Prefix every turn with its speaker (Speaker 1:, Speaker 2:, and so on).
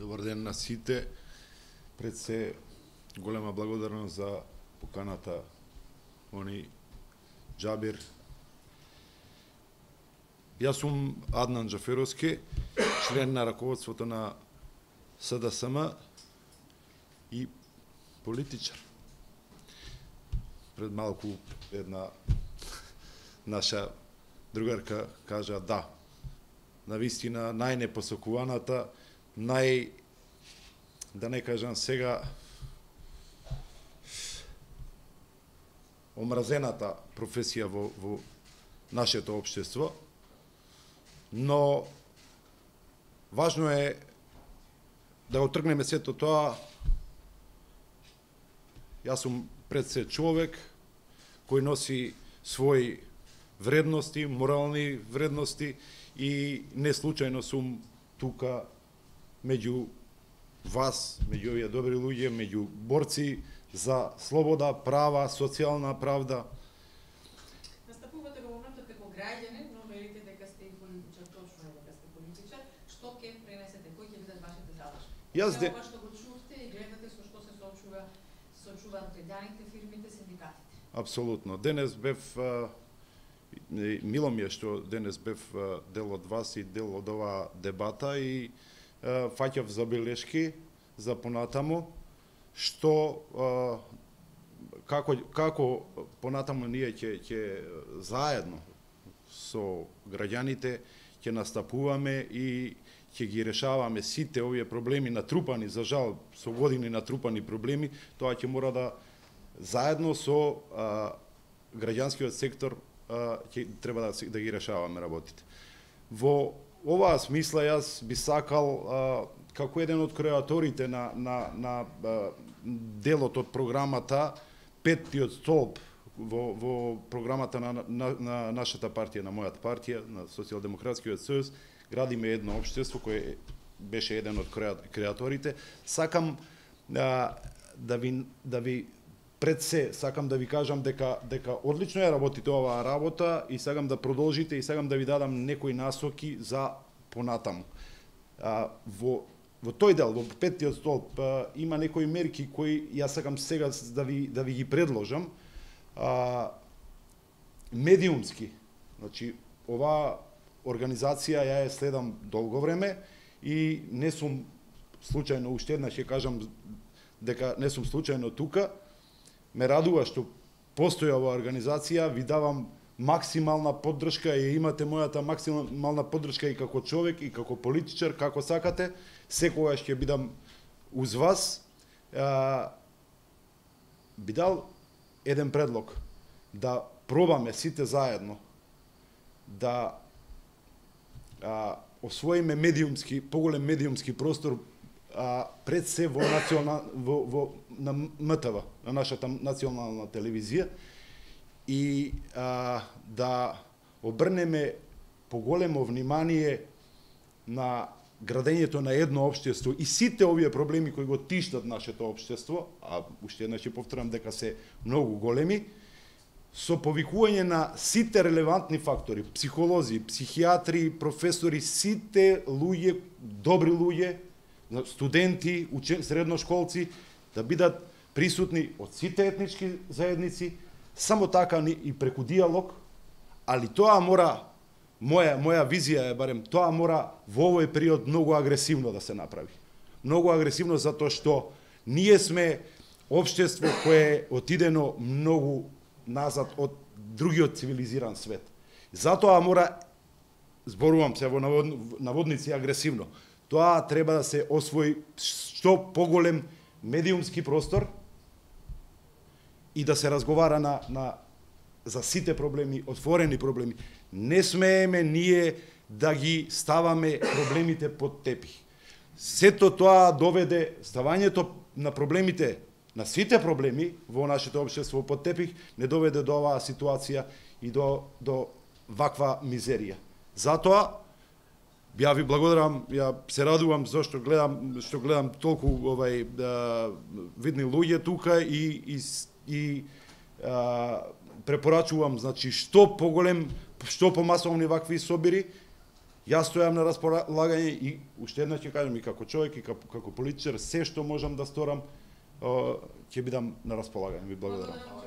Speaker 1: Добар ден на сите. Пред се голема благодарност за поканата они Џабир. Јас сум Аднан Џаферовски, член на раководството на СДСМ и политичар. Пред малку една наша другарка кажа да. Навистина најнепосакуваната, да не кажам сега, омразената професија во нашето општество, но важно е да отргнеме сето тоа. Јас сум пред се човек кој носи своји вредности, морални вредности и не случајно сум тука меѓу вас, меѓу овие добри луѓе, меѓу борци за слобода, права, социјална правда.
Speaker 2: Настапувате во моментот како граѓанин, но велите дека сте и политичар, точно е дека сте политичар. Што ќе пренесете, кои ќе бидат вашите задачи? Ова што го чувте и гледате со што се соочуваат граѓаните, фирмите, синдикатите.
Speaker 1: Апсолутно. Денес бев мило ми е што денес бев дел од вас и дел од оваа дебата и фаќав забелешки за понатаму, што како понатаму ние ќе заедно со граѓаните ќе настапуваме и ќе ги решаваме сите овие проблеми натрупани, за жал, со години натрупани проблеми, тоа ќе мора да заедно со граѓанскиот сектор ќе треба да ги решаваме работите. Во оваа смисла јас би сакал како еден од креаторите на делот од програмата Петтиот столб во програмата на нашата партија, на мојата партија, на Социјалдемократскиот сојуз, градиме едно општество кој беше еден од креаторите. Сакам да ви пред се сакам да ви кажам дека одлично ја работите оваа работа и сакам да продолжите и сакам да ви дадам некои насоки за понатаму. Во тој дел, во Петтиот столб, има некои мерки кои јас сакам сега да ви ги предложам. Медиумски, значи оваа организација ја следам долго време и не сум случајно, уште еднаш ќе кажам дека не сум случајно тука. Ме радува што постои оваа организација, ви давам максимална поддршка и имате мојата максимална поддршка и како човек, и како политичар, како сакате. Секогаш ќе бидам уз вас. Би дал еден предлог, да пробаме сите заедно да освоиме поголем медиумски простор пред се во на МТВ, на нашата национална телевизија, и да обрнеме поголемо внимание на градењето на едно општество и сите овие проблеми кои го тиштат нашето општество, а уште еднаш ќе повторам дека се многу големи, со повикување на сите релевантни фактори, психолози, психијатри, професори, сите луѓе, добри луѓе, студенти, средношколци, да бидат присутни од сите етнички заедници, само така и преку диалог, али тоа мора, моја визија е барем, тоа мора во овој период многу агресивно да се направи. Многу агресивно затоа што ние сме општество кое е отидено многу назад од другиот цивилизиран свет. Затоа мора, зборувам се во наводници агресивно, тоа треба да се освои што поголем медиумски простор и да се разговара за сите проблеми, отворени проблеми. Не смееме ние да ги ставаме проблемите под тепих. Сето тоа доведе ставањето на проблемите, на сите проблеми во нашето општество под тепих, не доведе до оваа ситуација и до ваква мизерија. Затоа ја ви благодарам, ја се радувам зашто гледам толку видни луѓе тука и препорачувам, значи, што помасовни вакви собири, Јас стојам на располагање и уште еднаш ќе кажам и како човек и како политичар, се што можам да сторам ќе бидам на располагање. Ви благодарам.